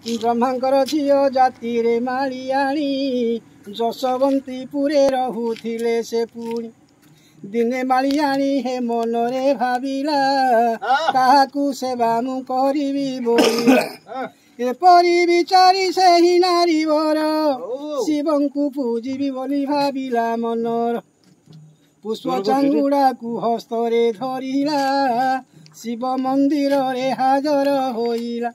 ବ୍ରହ୍ମାଙ୍କର ଝିଅ ଜାତିରେ ମାଳିଆଣୀ, ଯଶବନ୍ତୀପୁରେ ରହୁଥିଲେ ସେ। ପୁଣି ଦିନେ ମାଳିଆଣୀ ହେ ମନରେ ଭାବିଲା, କାହାକୁ ସେବା ମୁଁ କରିବି ବୋଲିଲା। ଏପରି ବିଚାରି ସେହି ନାରୀବର ଶିବଙ୍କୁ ପୂଜିବି ବୋଲି ଭାବିଲା ମନର। ପୁଷ୍ପ ଚାଙ୍ଗୁଡ଼ାକୁ ହସ୍ତରେ ଧରିଲା, ଶିବ ମନ୍ଦିରରେ ହାଜର ହୋଇଲା।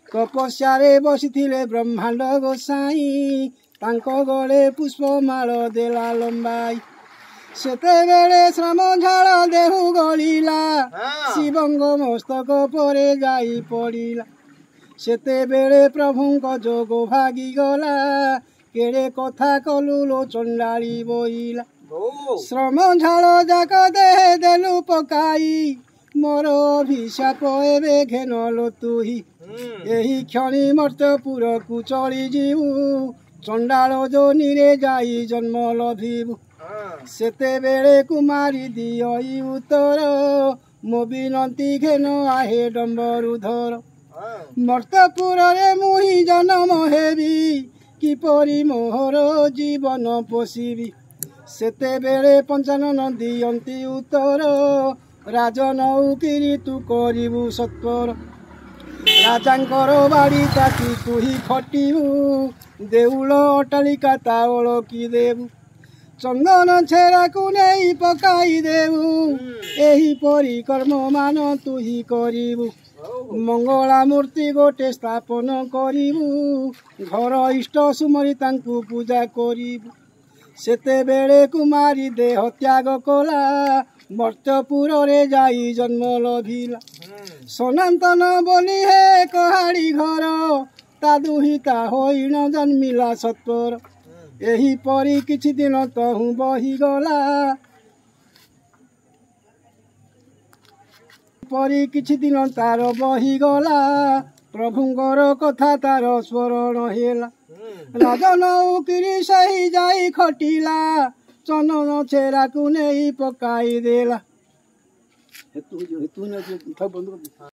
ତପସ୍ୟାରେ ବସିଥିଲେ ବ୍ରହ୍ମାଣ୍ଡ ଗୋସାଇଁ, ତାଙ୍କ ଗଳେ ପୁଷ୍ପମାଳ ଦେଲା ଲମ୍ବାଇ। ସେତେବେଳେ ଶ୍ରମ ଝାଳ ଦେହୁ ଗଳିଲା, ଶିବଙ୍କ ମସ୍ତକ ପରେ ଯାଇ ପଡ଼ିଲା। ସେତେବେଳେ ପ୍ରଭୁଙ୍କ ଯୋଗ ଭାଗିଗଲା, କେଡ଼େ କଥା କଲୁ ଲୋ ଚଣ୍ଡାଳି ବୋଇଲା। ଶ୍ରମ ଝାଳ ଯାକ ଦେହେ ଦେଲୁ ପକାଇ, ମୋର ଅଭିଶାପ ଏବେ ଘେନଲୋ ତୁହି। ଏହି କ୍ଷଣି ମର୍ତ୍ତ୍ୟପୁରକୁ ଚଳିଯିବୁ, ଚଣ୍ଡାଳ ଯୋନିରେ ଯାଇ ଜନ୍ମ ଲଭିବୁ। ସେତେବେଳେ କୁମାରୀ ଦିଅଇ ଉତ୍ତର, ମୋ ବିନନ୍ତି ଘେନ ଆହେ ଡମ୍ବରୁଧର। ମର୍ତ୍ତ୍ୟପୁରରେ ମୁହିଁ ଜନ୍ମ ହେବି, କିପରି ମୋହର ଜୀବନ ପୋଷିବି? ସେତେବେଳେ ପଞ୍ଚାନନ ଦିଅନ୍ତି ଉତ୍ତର, ରାଜନୌକିରି ତୁ କରିବୁ ସତ୍ୱର। ରାଜାଙ୍କର ବାଡ଼ି ତାକି ତୁହି ଖଟିବୁ, ଦେଉଳ ଅଟ୍ଟାଳିକା ତାଓଳ କି ଦେବୁ, ଚନ୍ଦନ ଛେରାକୁ ନେଇ ପକାଇ ଦେବୁ, ଏହିପରି କର୍ମମାନ ତୁହି କରିବୁ। ମଙ୍ଗଳା ମୂର୍ତ୍ତି ଗୋଟେ ସ୍ଥାପନ କରିବୁ, ଘର ଇଷ୍ଟ ସୁମରି ତାଙ୍କୁ ପୂଜା କରିବୁ। ସେତେବେଳେ କୁମାରୀ ଦେହ ତ୍ୟାଗ କଲା, ମର୍ତ୍ତ୍ୟପୁରରେ ଯାଇ ଜନ୍ମ ଲଭିଲା। ସନାତନ ବୋଲି ହେ କହାଡ଼ି ଘର, ତା ଦୁହିତା ହୋଇଣ ଜନ୍ମିଲା ସତ୍ୱର। ଏହିପରି କିଛି ଦିନ ତହୁଁ ବହିଗଲା, ପରି କିଛି ଦିନ ତାର ବହିଗଲା। ପ୍ରଭୁଙ୍କର କଥା ତାର ସ୍ମରଣ ହେଲା, ରାଜନୌକିରି ସେହି ଯାଇ ଖଟିଲା, ଚନ୍ଦନ ଛେରାକୁ ନେଇ ପକାଇ ଦେଲା।